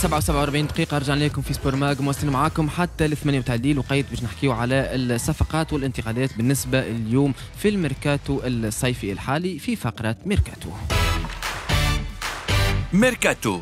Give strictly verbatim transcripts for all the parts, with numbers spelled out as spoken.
سبعة وسبعة وأربعين دقيقة، رجعنا لكم في سبور ماغ، مواصلين معاكم حتى الثمانية متاع الليل، وقيت باش نحكيو على الصفقات والانتقالات بالنسبة اليوم في الميركاتو الصيفي الحالي في فقرة ميركاتو. ميركاتو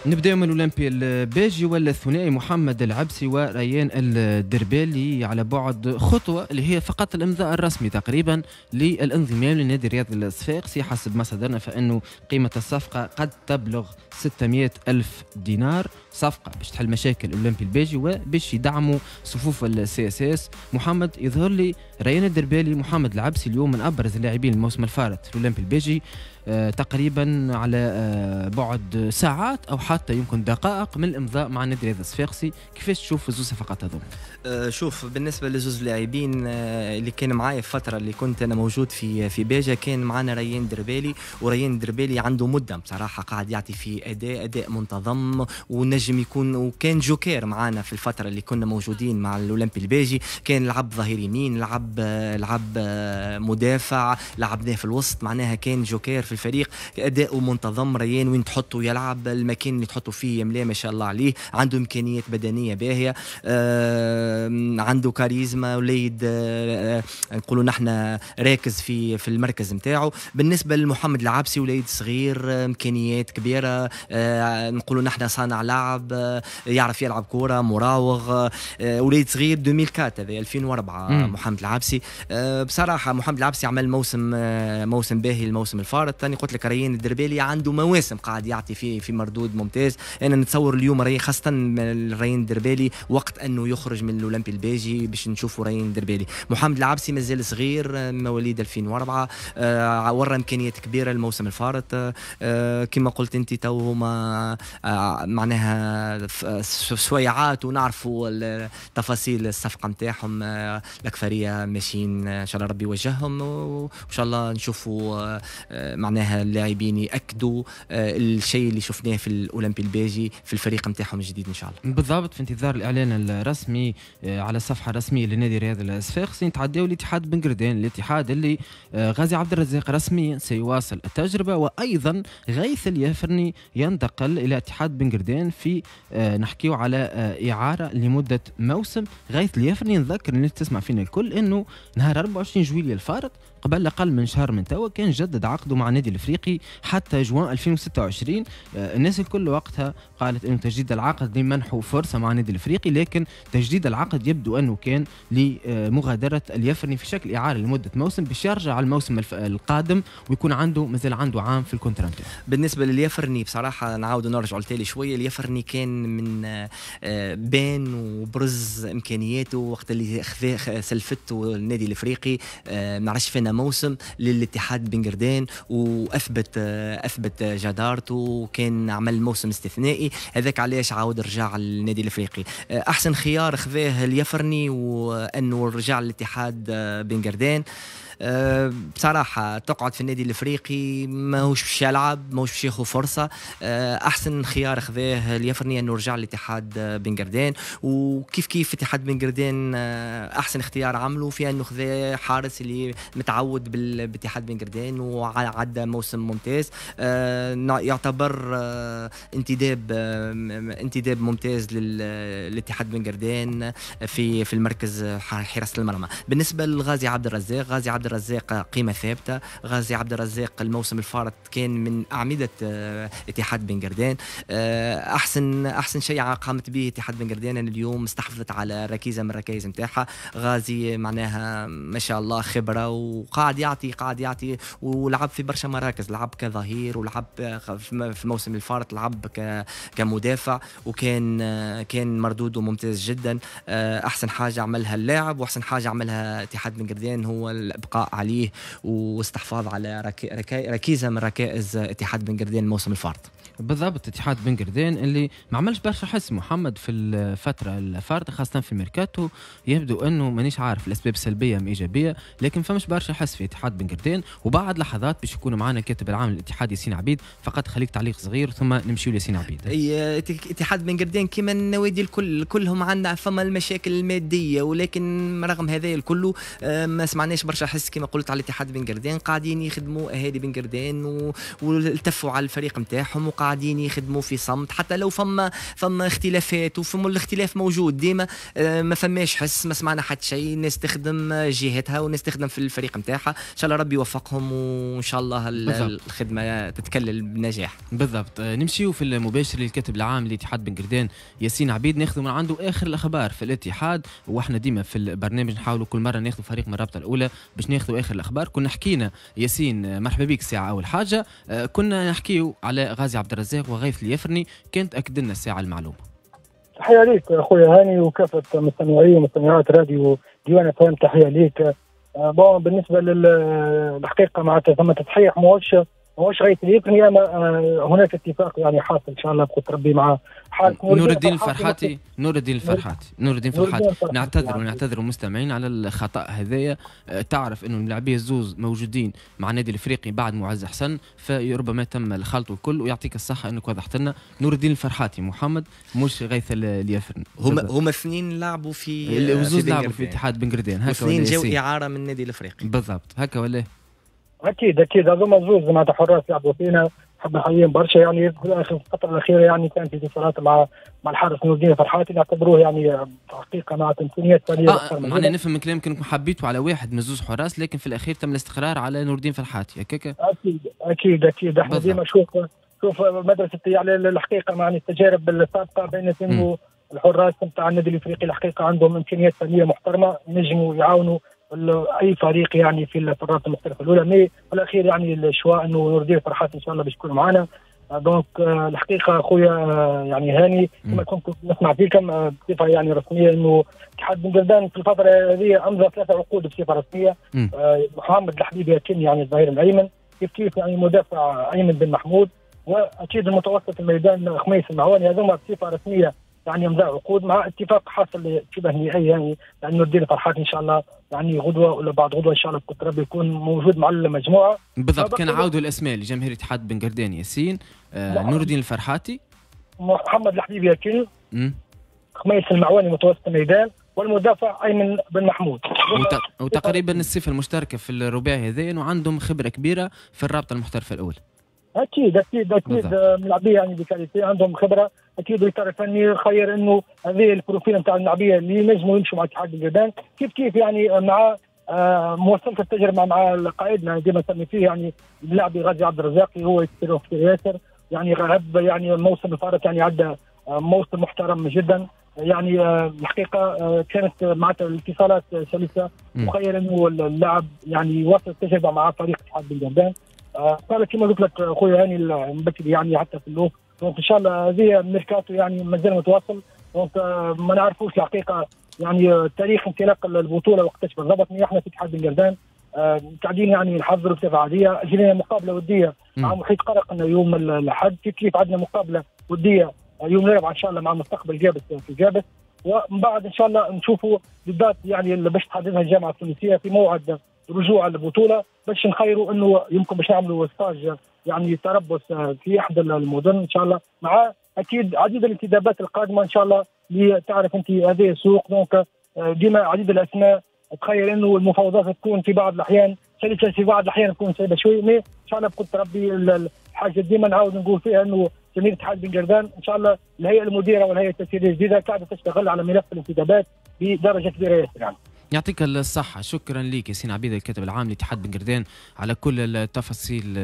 نبداو من الاولمبي الباجي والثنائي محمد العبسي وريان الدربالي على بعد خطوة اللي هي فقط الامضاء الرسمي تقريبا للانضمام لنادي الرياض الصفاقسي. حسب ما صدرنا فانه قيمة الصفقة قد تبلغ ستمائة ألف دينار، صفقة باش تحل مشاكل الاولمبي الباجي وباش يدعموا صفوف ال CSS. محمد، يظهر لي ريان الدربالي محمد العبسي اليوم من ابرز اللاعبين الموسم الفارط في الاولمبي الباجي، آه تقريبا على آه بعد ساعات او حتى يمكن دقائق من الامضاء مع النادي الرياضي الصفاقسي. كيفاش تشوف الزوز صفقات هذوما؟ أه شوف، بالنسبة لزوز لاعبين آه اللي كان معايا في الفترة اللي كنت انا موجود في في باجه، كان معنا ريان دربالي، وريان دربالي عنده مده بصراحة قاعد يعطي في اداء اداء منتظم ونجم يكون، وكان جوكير معنا في الفترة اللي كنا موجودين مع الاولمبي الباجي. كان لعب ظهير يمين، لعب لعب مدافع، لعبناه في الوسط، معناها كان جوكير في الفريق، اداؤه منتظم. ريان وين تحطه يلعب، المكان اللي تحطه فيه يملاه ما شاء الله عليه، عنده امكانيات بدنية باهيه، آه عنده كاريزما، وليد آه نقولوا نحن راكز في في المركز نتاعو. بالنسبة لمحمد العبسي، وليد صغير، امكانيات كبيرة، آه نقولوا نحن صانع لعب، آه يعرف يلعب كورة، مراوغ، آه وليد صغير ألفين وأربعة، هذا ألفين وأربعة. مم. محمد العبسي آه بصراحة محمد العبسي عمل موسم آه موسم باهي الموسم الفارط. ثاني قلت لك ريان الدربالي عنده مواسم قاعد يعطي فيه في مردود ممتاز. انا نتصور اليوم ريان، خاصة ريان الدربالي وقت انه يخرج من الاولمبي الباجي باش نشوفوا ريان الدربالي. محمد العبسي مازال صغير، مواليد ألفين وأربعة، آه ورى امكانيات كبيرة الموسم الفارط. آه كما قلت انت تو هما آه معناها سويعات ونعرفوا تفاصيل الصفقة نتاعهم. آه الاكثرية ماشيين، ان شاء الله ربي يوجههم، وان شاء الله نشوفوا آه معناها اللاعبين ياكدوا الشيء اللي شفناه في الاولمبي الباجي في الفريق نتاعهم الجديد ان شاء الله. بالضبط، في انتظار الاعلان الرسمي على الصفحة الرسمية لنادي الرياضي الصفاقسي. نتعداو لاتحاد بن قردان، الاتحاد اللي غازي عبد الرزاق رسميا سيواصل التجربة، وايضا غيث اليافرني ينتقل الى اتحاد بن قردان في نحكيو على اعاره لمدة موسم. غيث اليافرني نذكر الناس تسمع فينا الكل انه نهار أربعة وعشرين جويلية الفارط قبل اقل من شهر من توا كان جدد عقده مع النادي الافريقي حتى جوان ألفين وستة وعشرين. الناس الكل وقتها قالت انه تجديد العقد لمنحه فرصة مع النادي الافريقي، لكن تجديد العقد يبدو انه كان لمغادره اليافرني في شكل اعاره لمدة موسم باش يرجع على الموسم القادم ويكون عنده مازال عنده عام في ال contrat. بالنسبة لليافرني بصراحة نعاود نرجعوا لتالي شوية. اليافرني كان من بان وبرز امكانياته وقت اللي خذا سلفته النادي الافريقي، ما نعرفش فينا موسم للاتحاد بن قردان، واثبت اثبت جدارته وكان عمل موسم استثنائي. هذاك علاش عاود رجع للنادي الافريقي. احسن خيار خذاه اليافرني وانه رجع للاتحاد بن قردان. أه بصراحة تقعد في النادي الافريقي ماهوش باش يلعب، ماهوش باش ياخذ فرصة. أه احسن خيار خذاه اليافرني انه رجع للاتحاد بن قردان. وكيف كيف اتحاد بن قردان احسن اختيار عمله في انه خذاه حارس اللي متعود باتحاد بن قردان وعدى موسم ممتاز. أه يعتبر أه انتداب أه انتداب ممتاز للاتحاد بن قردان في في المركز حراسة المرمى. بالنسبة لغازي عبد الرزاق، غازي عبد الرزاق قيمة ثابتة. غازي عبد الرزاق الموسم الفارط كان من أعمدة اتحاد بن قردان. أحسن أحسن شيء قامت به اتحاد بن قردان أن اليوم استحفظت على ركيزة من الركائز نتاعها. غازي معناها ما شاء الله خبرة وقاعد يعطي قاعد يعطي ولعب في برشا مراكز، لعب كظهير ولعب في الموسم الفارط لعب كمدافع، وكان كان مردودة ممتاز جدا. أحسن حاجة عملها اللاعب وأحسن حاجة عملها اتحاد بن قردان هو الابقاء عليه واستحفاظ على ركيزة من ركائز اتحاد بن قردان الموسم الفارط. بالضبط، اتحاد بن قردان اللي ما عملش برشا حس محمد في الفترة الفارطه، خاصة في الميركاتو. يبدو انه مانيش عارف الاسباب سلبية ام ايجابية، لكن فماش برشا حس في اتحاد بن قردان. وبعد لحظات باش يكون معنا الكاتب العام للاتحاد ياسين عبيد. فقط خليك تعليق صغير ثم نمشيو لياسين عبيد. اي اتحاد بن قردان كما النوادي الكل كلهم عندنا فما المشاكل المادية، ولكن رغم هذا الكل ما سمعناش برشا حس كما قلت على اتحاد بن قردان. قاعدين يخدموا اهالي بن قردان والتفوا على الفريق نتاعهم وقاعدين وقاعدين يخدموا في صمت، حتى لو فما فما اختلافات، وفما الاختلاف موجود ديما، ما فماش حس، ما سمعنا حتى شيء، الناس تخدم جهتها والناس تخدم في الفريق نتاعها. ان شاء الله ربي يوفقهم وان شاء الله الخدمة تتكلل بنجاح. بالضبط. نمشيو في المباشر للكاتب العام لاتحاد بن قردان ياسين عبيد، ناخذ من عنده اخر الاخبار في الاتحاد. واحنا ديما في البرنامج نحاولوا كل مرة ناخذ فريق من الرابطة الاولى باش ناخذوا اخر الاخبار. كنا حكينا ياسين، مرحبا بك ساعة، اول حاجة كنا نحكيو على غازي عبد الرزاق وغيث اليفرني، كانت اكد لنا الساعة المعلومة. تحية ليك اخويا هاني وكافة مستمعي ومستمعات راديو ديوان فهم، تحية ليك. bon بالنسبة للحقيقة معناتها ثم تصحيح، ماهوش ماهوش غيث اليفرني، اما هناك اتفاق يعني حاصل ان شاء الله بقدر ربي مع حال نور الدين الفرحاتي. نور الدين الفرحاتي نور الدين الفرحاتي نعتذر ونعتذر المستمعين على الخطا هذايا. تعرف انه اللاعبيه الزوز موجودين مع النادي الافريقي بعد معز حسن، فربما تم الخلط والكل، ويعطيك الصحة انك وضحت لنا نور الدين الفرحاتي محمد مش غيث اليفرني. هما هما اثنين لعبوا في الزوز لعبوا في اتحاد بن قردان، هكا اثنين جاوا اعاره من النادي الافريقي. بالضبط هكا ولا؟ اكيد اكيد هذوما زوز معناتها حراس لعبوا فينا، حب نحييهم برشا يعني. في الفترة الاخيرة يعني كان في اتصالات مع مع الحارس نور الدين فرحاتي، نعتبروه يعني حقيقة مع امكانيات فنية. آه معناها نفهم من كلامك انكم حبيتوا على واحد من زوز حراس، لكن في الاخير تم الاستقرار على نور الدين فرحاتي هكاك؟ اكيد اكيد اكيد احنا ديما شوف شوف مدرسه يعني الحقيقة مع التجارب السابقة بين انه الحراس نتاع النادي الافريقي الحقيقة عندهم امكانيات فنية محترمه، ينجموا يعاونوا اي فريق يعني في الفترات المختلفة الاولى. mais في الاخير يعني ال choix انه نور الدين فرحات ان شاء الله باش يكون معنا. donc الحقيقة خويا يعني هاني كما كنت نسمع فيكم بصفة يعني رسمية انه اتحاد بن قردان في الفترة هذه امضى ثلاثة عقود بصفة رسمية. محمد الحبيب يتم يعني الظهير الايمن، كيف كيف يعني مدافع ايمن بن محمود، واكيد المتوسط الميدان خميس المعواني. هذوما بصفة رسمية يعني امضاء عقود مع اتفاق حاصل شبه نهائي يعني يعني نور الدين فرحات ان شاء الله يعني غدوه ولا بعد غدوه ان شاء الله بقدر ربي يكون موجود مع المجموعة. بالضبط. كان عاودوا الاسماء لجماهير اتحاد بن قردان ياسين، آه نور الدين الفرحاتي، محمد الحبيب ياكل، خميس المعواني متوسط الميدان، والمدافع ايمن بن محمود. وت... وتقريبا الصفة المشتركة في الرباعي هذا انه عندهم خبره كبيرة في الرابطة المحترفه الاولى. اكيد اكيد اكيد ملاعبيه يعني ب qualité، عندهم خبره، اكيد الاطار الفني خير انه هذه ال profil نتاع الملاعبيه اللي ينجموا يمشوا مع اتحاد بن قردان، كيف كيف يعني مع آه مواصلة التجربة مع قائدنا ديما نسمي فيه يعني اللاعب غازي عبد الرزاق، هو يكثر في ياسر يعني غاب يعني الموسم الفارط يعني عدى موسم محترم جدا يعني. الحقيقة كانت معناتها الاتصالات سلسه، وخير انه اللاعب يعني يواصل التجربة مع فريق اتحاد بن قردان. قال كما قلت لك خويا هاني بكري يعني حتى في اللوك. donc ان شاء الله هذه ميركاتو يعني مازال متواصل، donc ما نعرفوش الحقيقة يعني تاريخ انطلاق البطولة وقتاش بالضبط. احنا في اتحاد بن قردان قاعدين يعني نحضروا بصفة عادية، جينا مقابله وديه مع محيط قرقنا يوم الاحد، كيف كيف عندنا مقابله وديه يوم الاربعاء ان شاء الله مع مستقبل جابس في جابس، ومن بعد ان شاء الله نشوفوا بالذات يعني اللي باش تحددها الجامعة التونسية في موعد رجوع البطولة، باش نخيروا انه يمكن باش نعملوا stage يعني تربص في احدى المدن ان شاء الله، مع اكيد عديد الانتدابات القادمة ان شاء الله اللي تعرف انت هذه السوق. donc ديما عديد الاسماء، تخيل انه المفاوضات تكون في بعض الاحيان سلسه، في بعض الاحيان تكون صعيبة شوي، mais ان شاء الله بقدر ربي الحاجة ديما نعاود نقول فيها انه جميع اتحاد بن قردان ان شاء الله الهيئة المديرة والهيئة التسييريه الجديدة قاعدة تشتغل على ملف الانتدابات بدرجة كبيرة ياسر يعني. يعطيك الصحة، شكرا لك ياسين عبيد الكاتب العام لاتحاد بن قردان على كل التفاصيل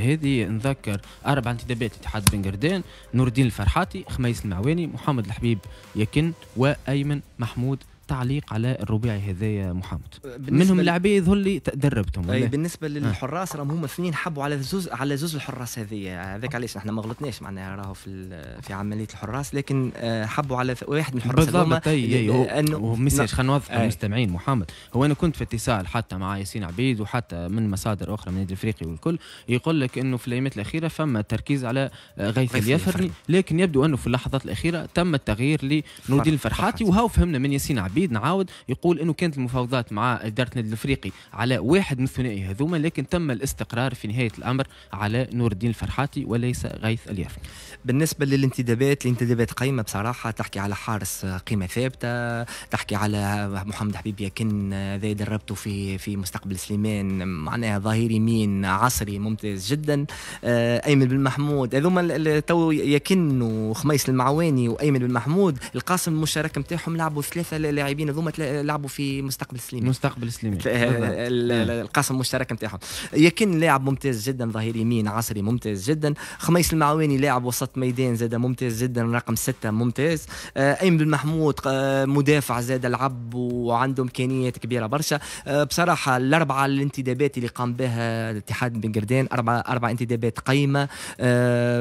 هذه. نذكر أربع انتدابات لاتحاد بن قردان: نور الدين الفرحاتي، خميس المعواني، محمد الحبيب يكن، وأيمن محمود. تعليق على الرباعي هذايا محمد، منهم لاعبين يظهر لي تدربتهم. اي بالنسبة للحراس راهم هما اثنين حبوا على زوز على زوز الحراس هذيا، هذاك علاش احنا ما غلطناش معناها راهو في في عملية الحراس، لكن حبوا على واحد من الحراس بالضبط. اي انه message خلينا نوضح للمستمعين محمد، هو انا كنت في اتصال حتى مع ياسين عبيد وحتى من مصادر اخرى من النادي الافريقي والكل يقول لك انه في الايامات الاخيرة فما تركيز على غيث اليفرني، لكن يبدو انه في اللحظات الاخيرة تم التغيير لنور الدين الفرحاتي، وهاو فهمنا من ياسين عبيد عبيد نعاود يقول انه كانت المفاوضات مع ادارة النادي الافريقي على واحد من الثنائي هذوما، لكن تم الاستقرار في نهاية الامر على نور الدين الفرحاتي وليس غيث اليافني. بالنسبة للانتدابات، الانتدابات قيمة بصراحة، تحكي على حارس قيمة ثابتة، تحكي على محمد حبيب يكن ذا دربته في في مستقبل سليمان، معناها ظهير يمين عصري ممتاز جدا. ايمن بن محمود، هذوما تو يكن وخميس المعواني وايمن بن محمود القاسم المشترك نتاعهم لعبوا ثلاثة لاعبين هذوما لعبوا في مستقبل سليمان، مستقبل سليمان القاسم المشترك نتاعهم. يكن لاعب ممتاز جدا، ظهير يمين عصري ممتاز جدا. خميس المعواني لاعب وسط ميدان زاد ممتاز جدا، رقم ستة ممتاز. ايمن بن محمود مدافع زاد لعب وعنده امكانيات كبيرة برشا. بصراحة الاربعة الانتدابات اللي قام بها الاتحاد بن قردان اربعة اربع انتدابات قيمة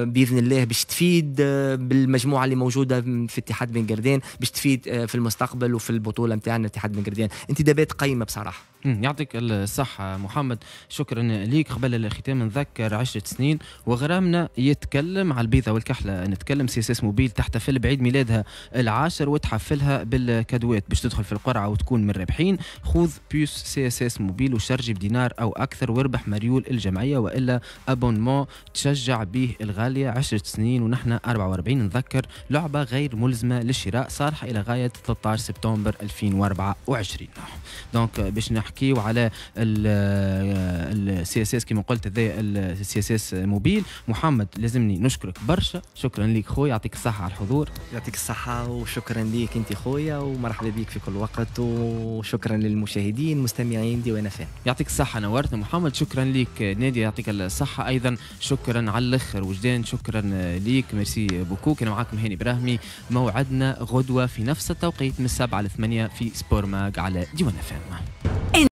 باذن الله باش تفيد بالمجموعة اللي موجودة في اتحاد بن قردان، باش تفيد في المستقبل وفي البطولة نتاعنا اتحاد بن قردان. انتدابات قيمة بصراحة. يعطيك الصحة محمد، شكرا ليك. قبل الختام نذكر عشرة سنين وغرامنا يتكلم على البيضة والكحلة، نتكلم CSS Mobile تحتفل بعيد ميلادها العاشر وتحفلها بالكادوات باش تدخل في القرعة وتكون من الرابحين. خذ puce CSS Mobile وشرجي بدينار أو أكثر واربح مريول الجمعية وإلا abonnement تشجع به الغالية. عشرة سنين ونحن أربعة وأربعين. نذكر لعبة غير ملزمة للشراء صالحة إلى غاية ثلاثة عشر سبتمبر ألفين وأربعة وعشرين. donc باش نحكيو على ال CSS كما قلت، هذا ال CSS Mobile. محمد لازمني نشكرك برشا، شكرا لك خويا، يعطيك الصحة على الحضور. يعطيك الصحة وشكرا ليك انت خويا، ومرحبا بك في كل وقت، وشكرا للمشاهدين المستمعين ديوان اف ام. يعطيك الصحة، نورتنا محمد. شكرا لك نادي، يعطيك الصحة أيضا. شكرا على الآخر وجدان، شكرا ليك، merci beaucoup. كان معاكم هاني براهمي، موعدنا غدوة في نفس التوقيت من السبعة لثمانية في Sport Mag على ديوان اف ام.